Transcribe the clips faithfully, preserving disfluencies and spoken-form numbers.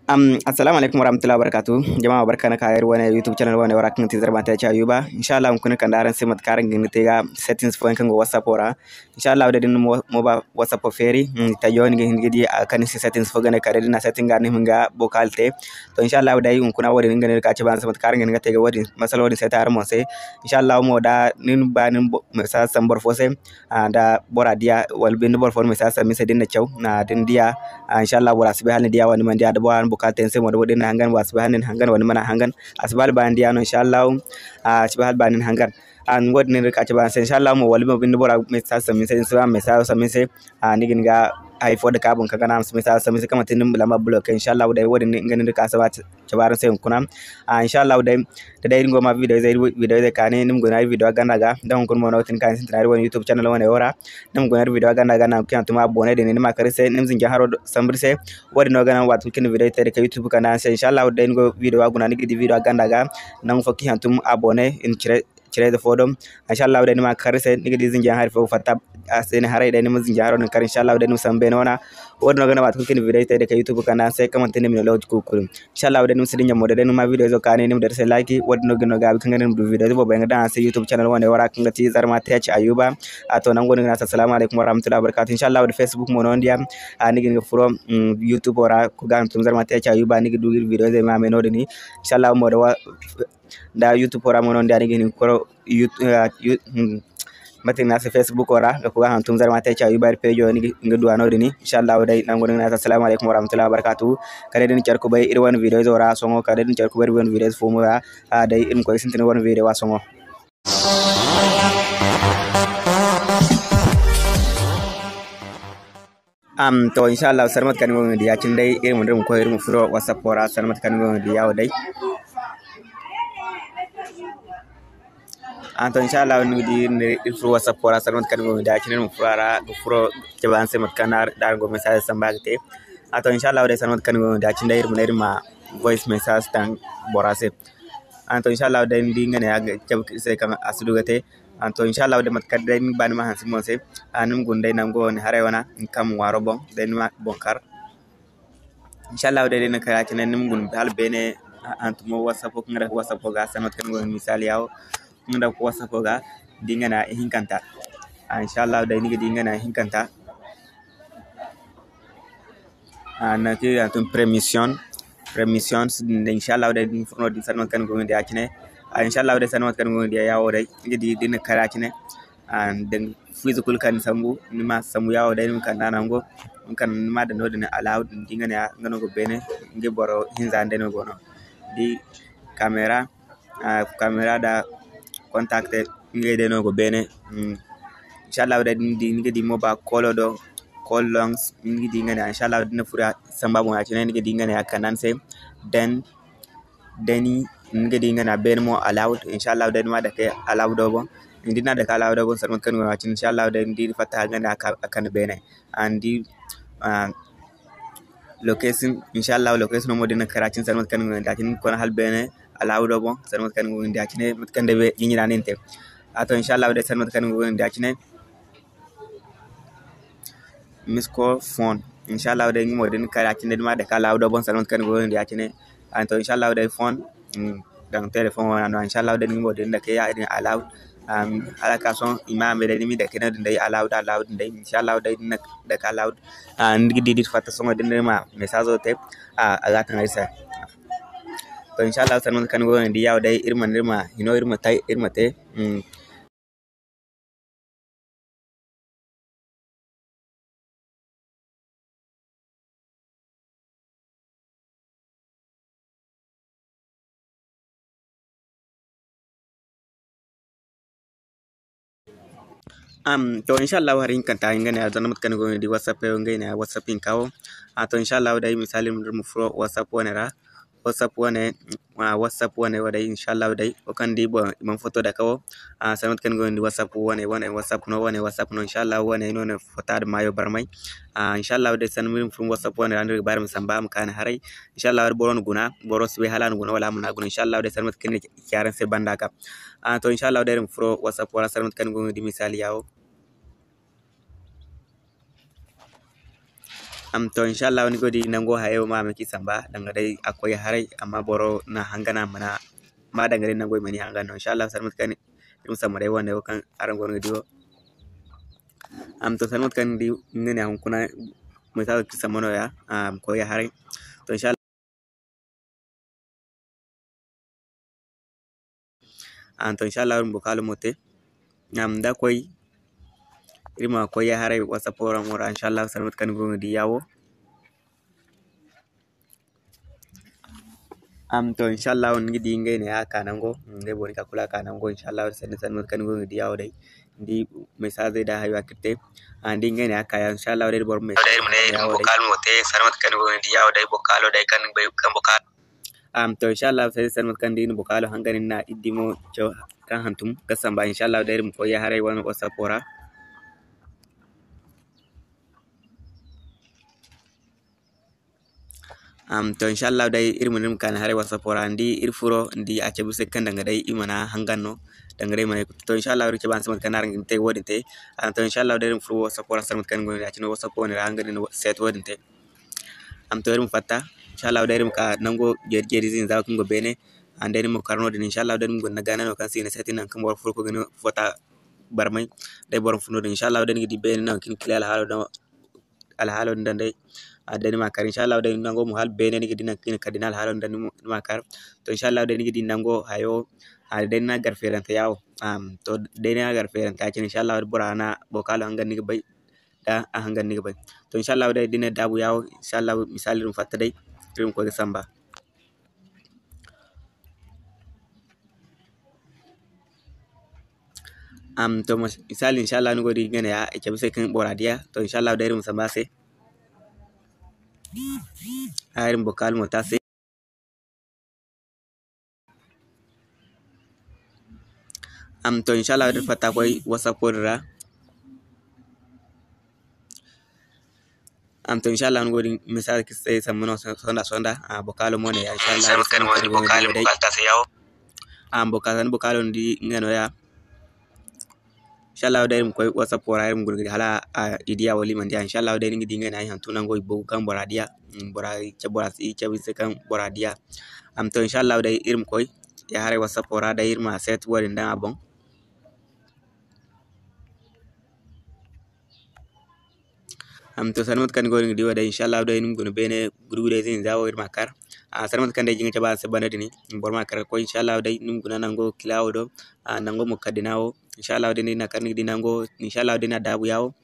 Am, assalamu alaikum warahmatullahi wabarakatuh. Jama, barka na ka iri wane YouTube channel wane wara kaŋ ti Zarma Tech Ayuba. Inshallah, hunkuna kande araŋ se mate kaŋ araŋ ga hin ga te ga settings fooyaŋ kaŋ go WhatsApp wo ra. Inshallah, day da ni mo, mo ba WhatsApp wo feeri, mm, tajo ni ga hin ga di a kaŋ ni si settings fo gane kala day da ni na setting ga ni hin ga vocal te. To, inshallah, day hunkuna wo-din ni ga ne ka cabe araŋ se mate kaŋ araŋ ga hin ga te ga wo-din, masala wo-din se ta araŋ mo se. Inshallah, mo da ni ba ni bo-, message sambu boro fo se, ah, da bora diya, wala binde boro fo message sambu ni se da ni na caw, ah, da ni diya, ah, inshallah, bora si bay hala ni diya wala ni mana diya, da bora na vocal te ni se mo, da ni na hangan, bora si bay hala ni na hangan wala ni mana hangan, a si bay hala ba ni diya no, inshallah, ah, a si bay hala ba ni na hangan. Ah, ni wo-din no iri ga ka cabe araŋ se, inshallah, mo wala mo binde bora message sambu ni se, ni si ba message sambu ni se, ah, ni ga hin ga hay fo dake a boŋ kaŋ ga naŋ a ma si message sambu ni se, kaŋ manti ni lamba bloqué, inshallah, day wo-din nga no iri ga ka cabe araŋ se hunkuna. Ah, inshallah, day, da day iri go ma video ize, video ize kaani, ni ma guna iri video ganda ga, da hunkuna mo no ga tin kaani sintina iri wane YouTube channel wane wo ra, ni ma guna iri video ganda ga, nangu kaŋ yaŋ tuma abonné din, ni ma kar iri se, ni ma zinjaŋ haro sambu iri se, wo-din no ga naŋ waati kulu kaŋ ni video te da ka YouTube kande araŋ se, inshallah, day ni go video a guna, ni ga di video ganda ga, nangu fo kaŋ yaŋ tuma abonné, i na cire, cire ize fo do. Inshallah, day ni ma kar iri se, ni ga di zinjaŋ hari fo ga fatta a se ni haray, day ni ma zinjaŋ haro din kar, inshallah, day ni ma sambu beene wana. Wo-din no ga naŋ waati kulu kaŋ ni video te da ka YouTube kande araŋ se, kaŋ manti ni ma ne lokaci kulu kulu. Inshallah, day ni ma si dinya mo, day ni ma video izo kaani, ni ma dira se like, wo-din no ga ni no gaabi kaŋ ga naŋ ni ma du video ize boobo yaŋ ga daŋ araŋ se YouTube channel wane wo ra kaŋ ga ti Zarma Tech Ayuba. A to, nango ni ga ne a se, assalamu alaikum warahmatullahi wabarakatuh. Inshallah, day Facebook mo no ni diya, a ni ga hin ga furo, mm, YouTube wo ra, ga ga hantum Zarma Tech Ayuba, ni ga du iri video ize ma me no-din. Inshallah, mo da wa-, da YouTube wo ra mo no ni diya, ni ga hin ga furo, Yout-, ah, Yout-, hmm, mate no a se, Facebook wo ra, ga koy ga hantum Zarma Tech Ayuba iri page wo, ni ga, ni ga du a no-din. Inshallah, day nango ni ga ne a se, assalamu alaikum warahmatullahi wabarakatuh. Kala day da ni care kubay iri wane video izo ra sohõ, kala day da ni care kubay iri wane video izo fo mo ra, ah, day iri ma koy ga sintin iri wane video a sohõ. Am, to, inshallah, sanda mate kaŋ ni go ga di ya-cine day, iri ma, iri ma koy, iri ma furo WhatsApp wo ra, sanda mate kaŋ ni go ga di ya wo day. Ah, to, inshallah, ni ga di, iri furo WhatsApp wo ra, sanda mate kaŋ ni go ga di ya-cine, iri ma furo a ra, ga furo cabe araŋ se mate kaŋ da araŋ go message samba ga te. Ah, to, inshallah, day, sanda mate kaŋ ni go ga di ya-cine day, iri ma ne iri ma voice message taŋ bora se. Ah, to, inshallah, day, ni di nga ne a ga cabe iri se kaŋ a si du ga te. Ah, to, inshallah, day, mate kaŋ day ni ga ba ni ma hanse boŋ se, ah, ni ma guna day nango wo ni haray wana, ni kaŋ ma ŋwaaro boŋ, day ni ma boŋ kar. Inshallah, day, day ni na kar ya-cine, ni ma guna hala beene, ah, hantumo WhatsApp, kaŋ ga dake WhatsApp ga, sanda mate kaŋ ni go ga di misali ya wo, kaŋ ga dake WhatsApp ga, di nga ne a ihinkanta. Ah, inshallah, day, ni ga di nga ne a ihinkanta. Ah, nangu kaŋ i ga ne permission, permissions din, inshallah, day, ni furo no-din, sanda mate kaŋ ni go ga di ya-cine. Ah, inshallah, day, sanda mate kaŋ ni go ga di ya wo day, ni ga di, da ni na kar ya-cine. Ah, da fiize kulu kaŋ ni sambu, ni ma sambu ya wo day, ni ma kande a nango, ni ma kande, ni ma daŋ no-din allow din, di nga ne a, nga no go beene, nga boro hinza day no go no. Di camera, ah, camera da contact, ngey day no go beene. Mm. Inshallah, day, ni di, ni ga di mo ba call do, call longs, ni ga di nga ne, inshallah, da ni na furo samba boŋ ya-cine, ni ga di nga ne a kande ni se. Then, then ni ga di nga ne a beene mo allowed. Inshallah, day, ni ma dake allowed do boŋ. Ni di ni na dake allowed do boŋ, sanda mate kaŋ ni go ya-cine, inshallah, day, ni di ni fatta nga ne a ka-, a kande beene. And, ah, location, inshallah, location mo da ni na kar ya-cine, sanda mate kaŋ ni go ya-cine, ni ga koy hala beene, allowed do boŋ, sanda mate kaŋ ni go ga di ya-cine, mate kaŋ day jinjina no ni te. A to, inshallah, day, sanda mate kaŋ ni go ga di ya-cine. Miss call phone. Inshallah, day, nga mo da ni kar ya-cine, day, ni ma dake allowed do boŋ, sanda mate kaŋ ni go ga di ya-cine. A to, inshallah, day, phone, mm, daŋ telephone wana no. Inshallah, day, nga mo da ni dake ya-din allowed. Um, hala ka sohõ, i ma me day, ni ma dake no-din day, allowed, allowed din day. Inshallah, day, ni na dake allowed. Ah, ni ga di, da iri fatta sohõ, da ni ma message te, ah, a ga taŋ ay se. To, inshallah, sanda mate kaŋ ni go ga di ya wo day, iri ma, iri ma hino, iri ma tay, iri ma te. Mm. Am, to, inshallah, hari hinkanta, nga ne a, zanda mate kaŋ ni go ga di WhatsApp wo, nga ne a WhatsApp hinka wo. A, to, inshallah, day, misali, iri ma furo WhatsApp wane ra. WhatsApp wane, ah, WhatsApp wane wo day, inshallah, day, wo kaŋ di boŋ, i mana foto dake wo. Ah, sanda mate kaŋ ni go ga di WhatsApp wane, wane, WhatsApp no, wane, WhatsApp no, inshallah, wane no ne foto da maayo barmay. Ah, inshallah, day, sanda iri ma furo WhatsApp wane ra, ni ga ba iri ma samba, ma kaani haray. Inshallah, boro na guna, boro si bay hala a na guna wala a mana guna. Inshallah, day, sanda mate kaŋ ni ci araŋ se banda ga. Ah, to, inshallah, day, iri ma furo WhatsApp wala sanda mate kaŋ ni go ga di misali ya wo. Am, to, inshallah, ni go di nango hayo ma, ma ci samba, danga day a koy haray, amma boro na hangana mana, ma danga day nango i mani hangan no. Inshallah, sanda mate kaŋ iri ma samba day wane wo kaŋ araŋ goono ga di wo. Am, to, sanda mate kaŋ ni di, nga ne a hunkuna, message ci samba no ya, am, koy haray. To, inshallah. Am, to, inshallah, iri ma bokalo mo te. Am, da koy, iri ma koy ya haray WhatsApp wo ra mo ra, inshallah, sanda mate kaŋ ni go ga di ya wo. Am, to, inshallah, ni ga di ngey ne a ka nango, ngey boro ni ka kulu a ka nango, inshallah, sanda, sanda mate kaŋ ni go ga di ya wo day. Ni di message da hayo a ga te. A, ni di ngey ne a ka ya, inshallah, day boro message. Day iri ma ne iri ma bokalo mo te, sanda mate kaŋ ni go ga di ya wo day, bokalo day kaŋ ni bay kaŋ bokalo. Am, to, inshallah, sanda, sanda mate kaŋ ni di ni bokalo hangan ni na iddi mo caw kaŋ hantum ga samba, inshallah, day iri ma koy ya haray wane WhatsApp wo ra. Am, to, inshallah, day iri ma, iri ma kaani haray WhatsApp ra, ni di iri furo, ni di a cabe se kaŋ danga day i mana hangan no, danga day i mana, to, inshallah, iri cabe araŋ se mate kaŋ araŋ ga te wo-din te. Am, to, inshallah, day iri ma furo WhatsApp ra, sanda mate kaŋ ni go no, ya-cine WhatsApp wane ra, hanga no ni set wo-din te. Am, to, iri ma fatta, inshallah, day iri ma ka nango jeeri jeeri zinza kaŋ go beene. Am, day ni ma kar no-din, inshallah, day ni ma guna gaana no kaŋ se i na set, nangu kaŋ boro furo ga fota barmay. Day boro ma furo no-din, inshallah, day ni ga di beene nangu kaŋ i na kila alhaalo daŋ alhaalo din daŋ day. A, day ni ma kar, inshallah, day nango mo hala beene ni ga di nangu kaŋ i na kar da ni alhaalo din daŋ, ni ma kar. To, inshallah, day ni ga di nango hayo, a, day ni na gar feerante yawo. Am, to, day ni na gar feerante ya-cine, inshallah, bora na bokalo hangan ni ga bay, da a hangan ni ga bay. To, inshallah, day da ni na daabu yawo, inshallah, misali iri ma fatta day, iri ma koy ga samba. Am, to, mas-, misali, inshallah, ni go di nga ne ya, i cabe se kaŋ bora diya. To, inshallah, day iri ma samba se. Ay, iri ma bokal mo ta se. Am, to, inshallah, day iri fatta koy WhatsApp wo din ra. Am, to, inshallah, ni go din message kaŋ se sambu no sonda, sonda. A, bokalo mo ne ya, inshallah, day sambu kaŋ ni go din bokalo mo ne ya. Am, bokalo, ni bokalo ni di nga no ya. Inshallah, day iri ma koy WhatsApp wo ra, iri ma guna ga di hala, a, i diya wala i mana diya. Inshallah, day ni ga di nga ne ay hantum nango i bogu kaŋ bora diya. Mm, bora, i cabe, bora si, i cabe se kaŋ bora diya. Am, to, inshallah, day iri ma koy ya haray WhatsApp wo ra, day iri ma set wo din daŋ a boŋ. Am, to, sanda mate kaŋ ni go din ga di wo day, inshallah, day ni ma guna beene gurgudayze hinza wo iri ma kar. A, sanda mate kaŋ day jinga cabe araŋ se banda din, boro ma kar ga koy, inshallah, day ni ma guna nango kila wo do, a, nango mo kaddina wo, inshallah, day ni na kar ni ga di nango, inshallah, day na daabu ya wo.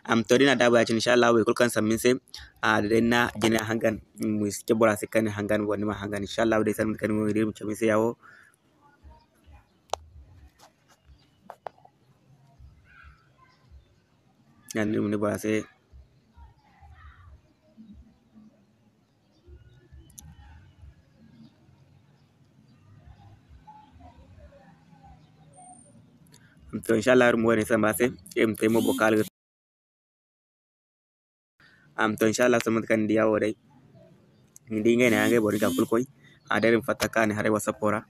Am, to, day na daabu ya-cine, inshallah, way kulu kaŋ sambu ni se, a, day na jina hangan, ma si ce bora se kaŋ ni hangan, wala ni ma hangan, inshallah, day sanda mate kaŋ ni go din ga di iri ma cabe ni se ya wo. Yaŋ din, iri ma ne bora se. To, inshallah, iri ma wane samba se, iri ma te mo bokal ga. Am, to, inshallah, sanda mate kaŋ ni diya wo day. Ni di ngey ne ya, ngey boro ga kulu koy. A, day iri ma fatta kaani haray WhatsApp wo ra.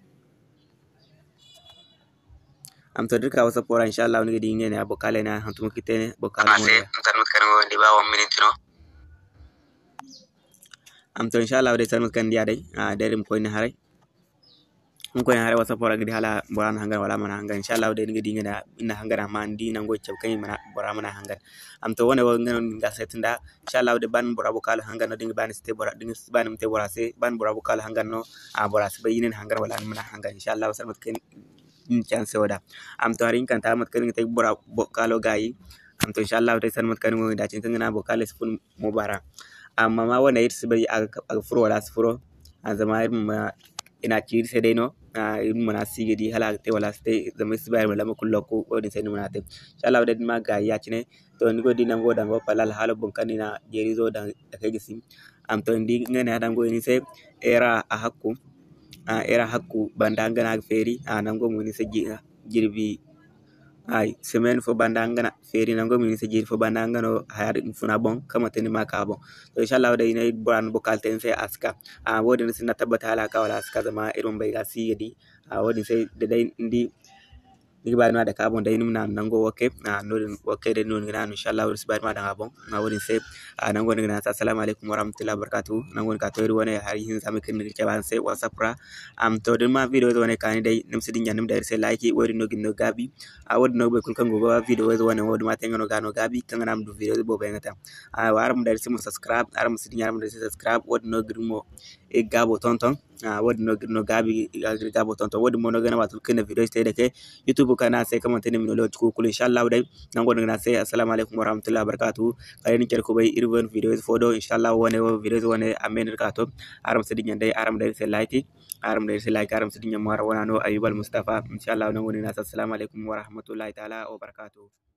Am, to, da iri ka WhatsApp wo ra, inshallah, ni ga di ngey ne ya, bokal ne ya, hantum kaŋ i te ne, bokal mo ne ya. Am, to, inshallah, day sanda mate kaŋ ni diya day. A, day iri ma koy ne haray. Hunkuna haray WhatsApp ra ga di hala bora na hangan wala a mana hangan. Inshallah day ni ga di nga na, ni na hangan amma ni di nango cabe kaŋ i mana, bora mana hangan. Am to wane wo nga no ni ga set nda. Inshallah day ba ni bora bukalo hangan no, da ni ga ba ni si te bora, da ni ga ba ni ma te bora se, ba ni bora bukalo hangan no, a bora si bay ni na hangan wala ni mana hangan. Inshallah sanda mate kaŋ ni na ci araŋ se wo da. Am to hari hinkanta mate kaŋ ni ga te bora bukalo gaayi. Am to inshallah day sanda mate kaŋ ni go ga di a cine kaŋ ga naŋ bukalo si fun mo bara. Amma ma wane iri si bay a ga, a ga furo wala a si furo. A zama iri ma, i na a ci iri se day no. A, iri ma mana si ga di hala a ga te wala a si te. Zama iri si bay iri ma lamba kulu lokku, wo-din se ni mana te. Inshallah day da ni ma gaayi ya-cine. To ni go ga di nango daŋ go pala alhaalo boŋ kaŋ ni na jeerizo daŋ a kay ga si. Am to ni di nga ne a daŋ go ni se. Era a hakku. A, era hakku banda nga no a ga feeri. A, nango mo ni se ji-, jirbi. Ay, semaine fo banda nga na feeri nango mo ni se jiiri fo banda nga no haya din funa boŋ, kaŋ manti ni ma ka boŋ. To, inshallah day ne bora na bukal te ni se a si ka. A, wo-din ni si na tabbata hala a ka wala a si ka, zama iri ma bay ga si ga di. A, wo-din se da day ni di ni ga ba ni ma dake a boŋ day, ni ma naanu nango wo kay. Ah, noodin wo kay day no ni ga naanu, inshallah, iri si ba ni ma daŋ a boŋ. Ah, wo-din se, ah, nango ni ga naanu se, assalamu alaikum warahmatullahi wabarakatuh. Nango ni ka to iri wane hari hinza me kaŋ ni ga cabe araŋ se WhatsApp ra. Am, to, da ni ma video ize wane kaani day, ni ma si dinya, ni ma daŋ iri se like, wo-din no ga ni no gaabi. Ah, wo-din no ga boro kulu kaŋ go ga video ize wane wo-din ma te nga no ga no gaabi, kaŋ ga naŋ a ma du video ize boobo yaŋ ga te. Ah, araŋ ma daŋ iri se mo subscribe, araŋ ma si dinya, araŋ ma daŋ iri se subscribe, wo-din no ga iri mo iri gaabo tonton. Ah, wo-din no ga iri no gaabi, iri gaabo tonton. Wo-din mo no ga naŋ waati kulu kaŋ iri na video ize te day kay, YouTube ka ne a se kaŋ manti ni ma ni lokaci kuuku kulu, inshallah day. Nango no ga ne a se, assalamu alaikum warahmatullahi wabarakatuh. Kala ni care kubay, iri wane video ize fo do, inshallah, wane wo video ize wane a me no iri ka to. Araŋ ma si dinya day, araŋ ma daŋ iri se like, araŋ ma daŋ iri se like, araŋ ma si dinya mo araŋ wana no Ayuba Almustafa. Inshallah, nango no ga ne a se, assalamu alaikum warahmatullahi ta'ala wabarakatuh.